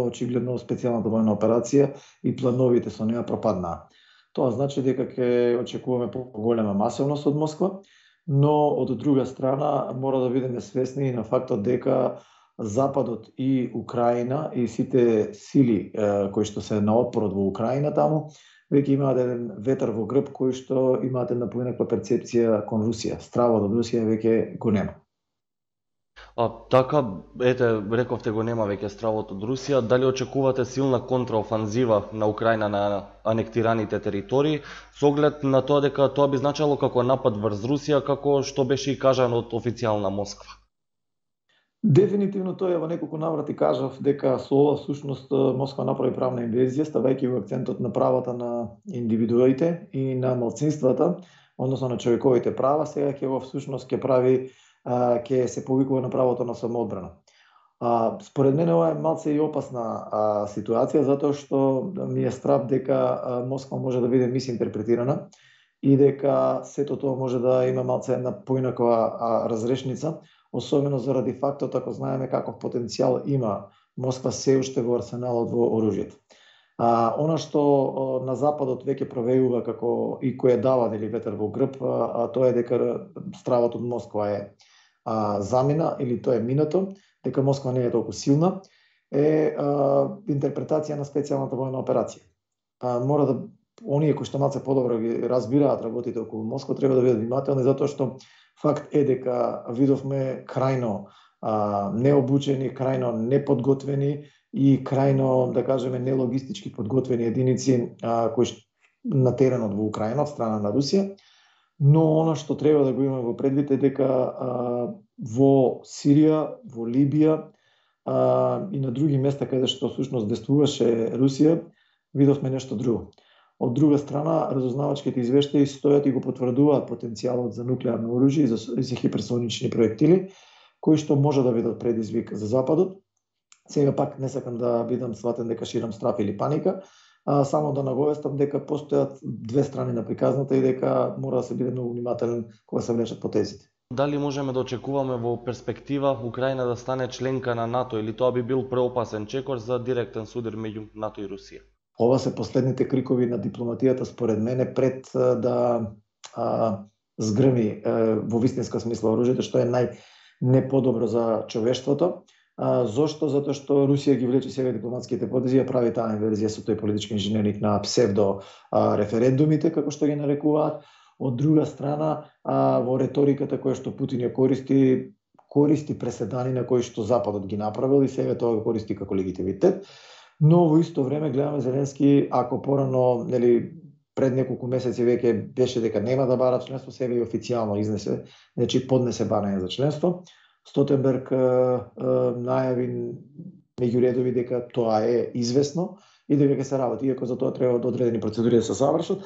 очигледно специјалната војна операција и плановите со неа пропаднаа. Тоа значи дека ќе очекуваме поголема масовност од Москва, но од друга страна мора да бидеме свесни на фактот дека Западот и Украина и сите сили кои што се на отпорот во Украина таму веќе имаат еден ветар во грб кој што имаат една поинаква перцепција кон Русија. Стравот од Русија веќе го нема. Така, ете, рековте го нема веќе стравот од Русија. Дали очекувате силна контраофанзива на Украина на анектираните територии, со оглед на тоа дека тоа би значило како напад врз Русија, како што беше и кажано од официјална Москва? Дефинитивно тоа во неколку наврати кажав дека со ова всушност Москва направи правна инвезија, ставајќи го акцентот на правата на индивидуите и на малцинствата, односно на човековите права. Сега ќе го всушност ќе се повикува на правото на самоодбрана. Според мене ова е малце и опасна ситуација, затоа што ми е страв дека Москва може да биде мисинтерпретирана и дека сето тоа може да има малце една поинаква разрешница, особено заради фактот ако знаеме каков потенцијал има Москва се уште во арсеналот во оружјето. Она што на Западот веќе провејува како и кој дава ветер во грб, тоа е дека стравот од Москва е замина или тоа е минато, дека Москва не е толку силна, е интерпретација на специјалната војна операција. Мора да оние кои што малце подобро ги разбираат работите околу Москва треба да бидат внимателни, затоа што факт е дека видовме крајно необучени, крајно неподготвени и крајно, да кажеме, нелогистички подготвени единици кои на теренот во Украина од страна на Русија. Но она што треба да го имаме во предвид е дека во Сирија, во Либија и на други места каде што всушност действуваше Русија, видовме нешто друго. Од друга страна, разузнавачките извештаи стојат и го потврдуваат потенцијалот за нуклеарно оружје и за хиперсонични проектили, кои што може да бидат предизвик за Западот. Сега пак не сакам да бидам сватен дека ширам страв или паника, само да наговестам дека постојат две страни на приказната и дека мора да се биде многу внимателен кога се влечат потезите. Дали можеме да очекуваме во перспектива Украина да стане членка на НАТО или тоа би бил преопасен чекор за директен судир меѓу НАТО и Русија? Ова се последните крикови на дипломатијата според мене пред да згрми во вистинска смисла оружјето, што е најнеподобро за човештвото. Зошто? Затоа што Русија ги влече сега дипломатските потези, ја прави таа инверзија со тој политички инженеринг на псевдо референдумите, како што ги нарекуваат. Од друга страна, во реториката која што Путин ја користи преседани на кои што Западот ги направил и сега тоа го користи како легитимитет. Но во исто време гледаме Зеленски, ако порано, пред неколку месеци веќе беше дека нема да бара членство, сега и официјално изнесе, значи поднесе барање за членство. Столтенберг најави меѓу редови дека тоа е известно и дека ќе се работи, иако за тоа треба одредени процедури да се завршат.